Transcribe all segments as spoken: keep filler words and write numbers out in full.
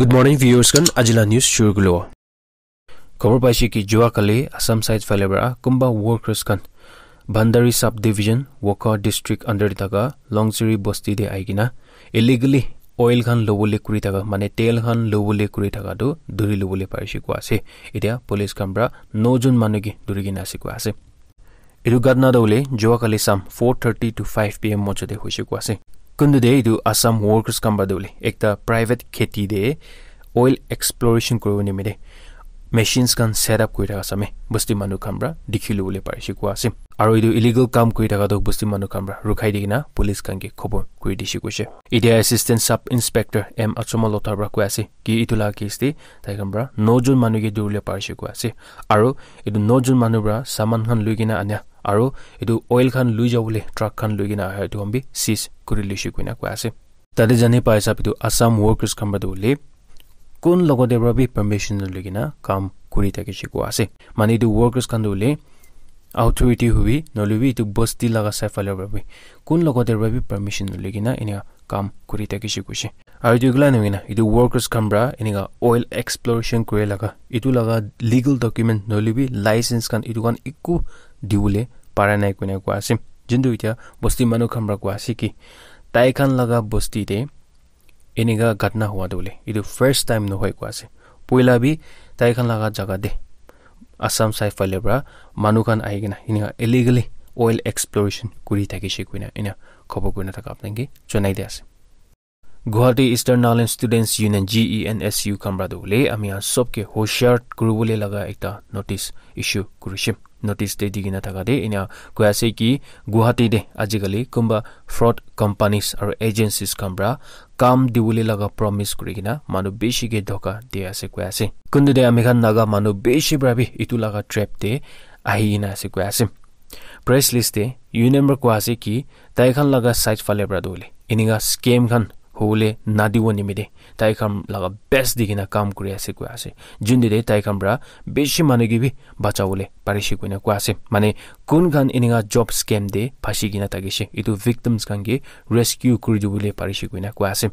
Good morning, viewers khan. Ajila news shuru kulo. Khobor paise ki jua kali Assam side phale para kumba workers khan Bandari subdivision, Wokha district under te thaka Longchiri bosti te ahi kena illegally oil khan lobole kuri thaka, mane tel khan lobole kuri thaka tu duri lobole parise koi ase. Etia police khan para no jon manu ke duri kena ase koi ase. Etu ghotna tu hoile jua kali sam four thirty to five p m mojo te hoise koi ase. Kuntu te etu Assam workers khan para tu hoile ekta private kheti te oil exploration kuribo nimite machines khan set up kuri thaka same bosti manu khan para dikhi lobole parise koi ase. Aru etu illegal kam kuri thaka tu bosti manu khan para rukhai di kena police khan ke khobor kuri dise koise. Etia Assistant Sub Inspector M Achoma Lotha para koi ase ki etu laga case te tai khan para no jon manu ke duri le parise koi ase. Aru etu no jon manu para saman khan lui kena anya aru etu oil khan lui jabole truck khan lui kena aha etu khan bi seize kuri lise koina koi ase. Tate jani pai sab etu Assam workers khan para tu hoile kun logote para bi permission naloi kena kam kuri thakise koi ase. Mane etu workers khan tu hoile authority hobi nohoile bi etu bosti laga side phale para bi kun logote para bi permission naloi kena enia kam kuri thakise koise. Aru etu kila nohoi kena etu workers khan para enika oil exploration kuri laga etu laga legal document nohoile bi license khan etu khan eku dibole para nai koina koi ase. Jintu etia bosti manu khan para koi ase ki tai khan laga bosti te enika ghotna hua tu hoile etu first time nohoi koi ase. Poila bi tai khan laga jaga te Assam side phale para manu khan ahi kena enika illegally oil exploration kuri thakise koina enia khobor kurina thaka apni ke jonai di ase. Guwahati Eastern Nagaland Students Union, G E N S U khan para tu hoile ami khan sob ke hoshiar kuribole laga ekta notice issue kurise. Notice te di kena thaka te enia koi ase ki Guwahati te ajikali kunba fraud companies aru agencies khan para kam dibole laga promise kuri kena manu bishi ke dhoka di ase koi ase. Kuntu te ami khan Naga manu bishi para bi etu laga trap te ahi kena ase koi ase. Press list te union para koi ase ki tai khan laga side phale para tu hoile enika scam khan hobole nadibo nimite tai khan laga best di kena kam kuri ase koi ase. Jintu te tai khan para bishi manu ke bi bachabole parise koina koi ase. Mane kun khan enika job scam te phasi kena thakise etu victims khan ke rescue kuri dibole parise koina koi ase.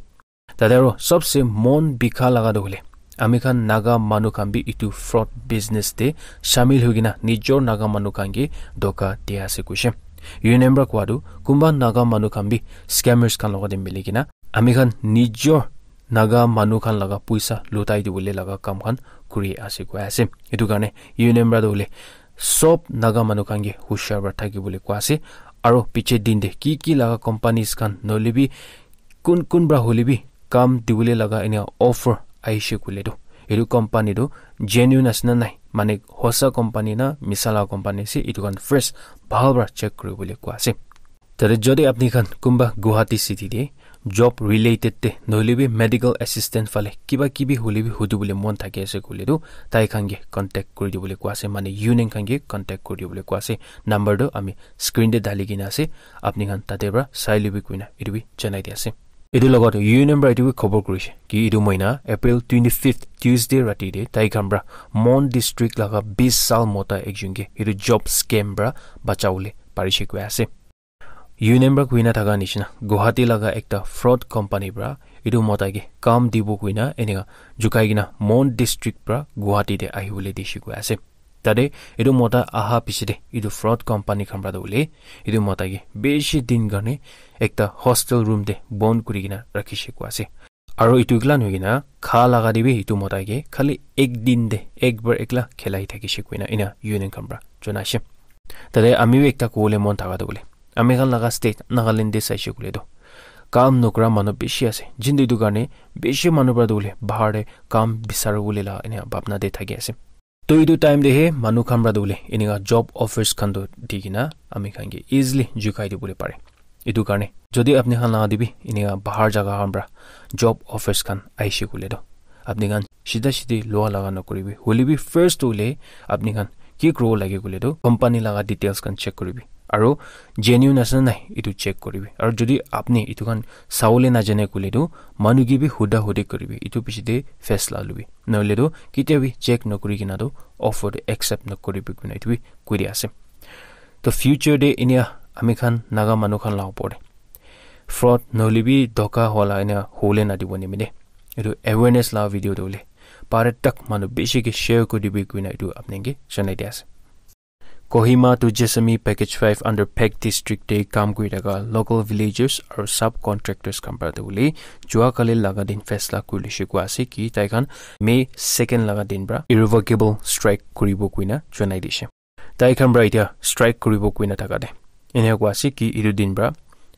Tate aru sobse mon bikha laga tu hoile ami khan Naga manu khan bi etu fraud business te shamil hoi kena nijor Naga manu khan ke dhoka di ase koise. Union para koi tu kunba Naga manu khan bi scammers khan logote mili kena ami khan nijor Naga manu khan laga poisa lutai dibole laga kam khan kuri ase koi ase. Etu karne union para tu hoile sob Naga manu khan ke hoshiar para thakibole koi ase. Aru piche din te ki ki laga companies khan nohoile bi kun kun para hoile bi kam dibole laga enia offer ahishe koile tu etu company tu genuine ase na nai, mane hosa company na misa laga company ase, etu khan first bhal para check kuribole koi ase. Tate jodi apni khan kunba Guwahati city te job related te nohoile bi medical assistant phale kiba kibi hoile bi hudibole mon thaki ase koile tu tai khan ke contact kuri dibole koi ase, mane union khan ke contact kuri dibole koi ase. Number tu ami screen te dali kena ase, apni khan tate para sai lobi koina etu bi janai di ase. Etu logot union para etu bi khobor kurise ki etu mohina April twenty fifth Tuesday rati te tai khan para Mon district laga bis sal mota ekjon ke etu job scam para bachabole parise koi ase. Union para koina thaka nishina Guwahati laga ekta fraud company para etu mota ke kam dibo koina enika jukai kena Mon district para Guwahati te ahibole dise koi ase. Tate etu mota aha piche te etu fraud company khan para tu hoile etu mota ke bishi din karne ekta hostel room te bon kuri kena rakhishe koi ase. Aru etu kila nohoi kena kha laga te bi etu mota ke khali ek din te ek bar ekla khilai thakishe koina ena union khan para janaishe. Tate ami bi ekta kobole mon thaka tu hoile ami khan laga state Nagaland te saishe koile tu kam nokra manu bishi ase, jintu etu karne bishi manu para tu hoile bahar te kam bisaribole la ena bhabna te thaki ase. To etu time te he manu khan para tu hoile enika job offers khan tu di kena ami khan ke easily jukai dibole pare. Etu karne jodi apni khan laga te bi enika bahar jaga khan para job offers khan ahishe koile tu apni khan sida sidi lua laga nokoribi. Hoile bi first tu hoile apni khan ki kuribo lage koile tu company laga details khan check kuribi. Aru genuine ase na nai etu check kuribi. Aru jodi apni etu khan sabole najane koile tu manu ke bi huda hudi kuribi. Etu piche te faisla lobi. Nohoile tu ketia bi check nokuri kena tu offer tu accept nokuribi koina etu bi koi di ase. To future te enia ami khan Naga manu khan la opor te fraud nohoile bi dhoka wala enia hole na dibo nimite. Etu awareness la video tu le pare tak manu bishi ke share kuri dibi kuina etu apni ke janai di ase. Kohima to Jessami Package five under Phek District te kam kuri thaka local villagers aru subcontractors khan para tu le jua kali laga din faisla kuri lishe kua ase ki tai khan May second laga din para irrevocable strike kuribo kuina janai dishe. Tai khan para etia strike kuribo kuina thaka de enia kua ase ki etu din para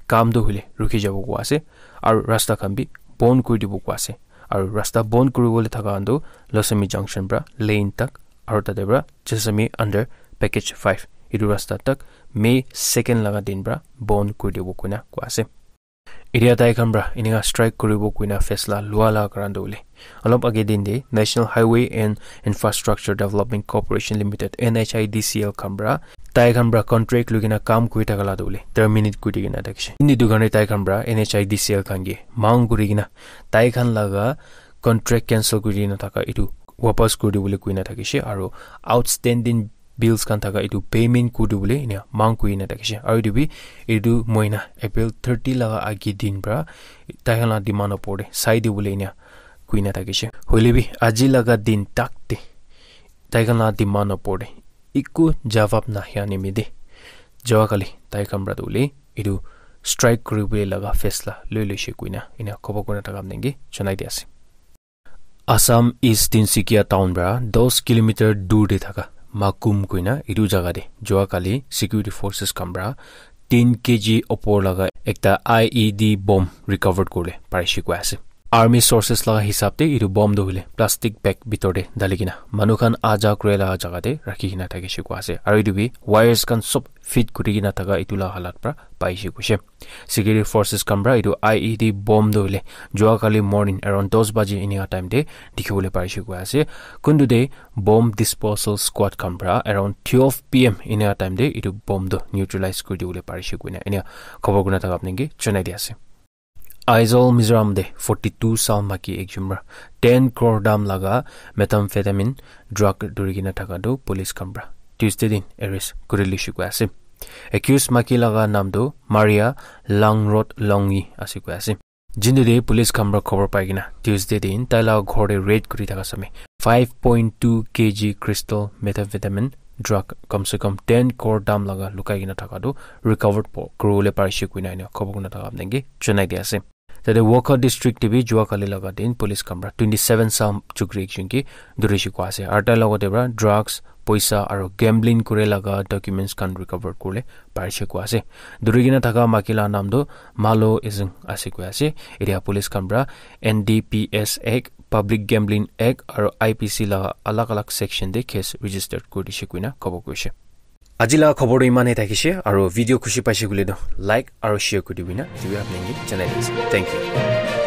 kam tu hule rukhi jabo kua ase aru rasta khan bi bon kuri dibo kua ase. Aru rasta bon kuri bole thaka khan tu Losami Junction para lane tak aru tate para Jessami under Package five etu rasta tak May second laga din para bon kuri dibo kuina kua ase. Etia tai khan para enika strike kuribo kuina faisla lua la karan tu hule olop age din de National Highway and Infrastructure Development Corporation Limited, N H I D C L khan para tai khan para contract lui kena kam kuri thaka la tu hule terminate kuri kena thakishe. Ini tu khan tai khan para N H I D C L khan ke mang kuri kena tai khan laga contract cancel kuri kena thaka etu wapas kuri dibole kuina thakishe aru outstanding bills khan thaka etu payment kuri dibole enia mang kuri na thakishe. Aru etu bi etu moina April thirty laga agi din para tai khan la demand opor de sai dibole enia kuri na thakishe. Hoile bi aji laga din tak te tai khan la demand opor de eku jawab na hia nimide jawa kali tai khan para tu le etu strike kuri bole laga faisla loi loishe kuina enia khobor kurina thaka apni ke janai di ase. Assam East Tinsukia town para dos kilometer dur te thaka Makum kuina etu jaga te jua kali security forces khan para ten K G opor laga ekta I E D bomb recovered kurle parishe koi ase. Army sources laga hisab te etu bomb tu hule plastic bag bitor te dali kena manu khan aja kure laga jaga te rakhi kena thakishe koi ase. Aru etu bi wires khan sob fit kuri kena thaka etu la halat para paishe koishe. Security forces khan para etu I E D bomb tu hule jua kali morning around dos baji enika time te dikhi bole parishe koi ase. Kuntu te bomb disposal squad khan para around twelve P M enika time te etu bomb tu neutralize kuri dibole parishe koina enia khobor kurina thaka apni ke janai di ase. Aizawl Mizoram te forty two sal maki ekjon para ten crore dam laga methamphetamine drug duri kena thaka tu police khan para Tuesday din arrest kuri lishe koi ase. Accused maki laga naam tu Maria Langrod Longyi ase koi ase. Jindu de police khan para khobor pai kena Tuesday din tai laga ghor te raid kuri thaka samay five point two K G crystal methamphetamine drug kam se kam ten crore dam laga lukai kena thaka tu recovered po kuri bole parishe koina enia khobor kurina thaka apni ke janai di ase. Tate Wokha district te bi jua kali laga din police khan para twenty seven sal chukri ekjon ke duri she koi ase. Aru tai logot te para drugs, poisa aru gambling kure laga documents khan recover kure parishe koi ase. Duri kena thaka maki la naam tu Malo Ezing ase koi ase. Etia police khan para N D P S Act, Public Gambling Act aru I P C laga alag alag section te case registered kuri dishe koina khobor koishe. Aji la khobor tu iman he thakishe aru video khushi paishe koile tu like aru share kuri dibi na etu bi apni ke janai di ase. Thank you.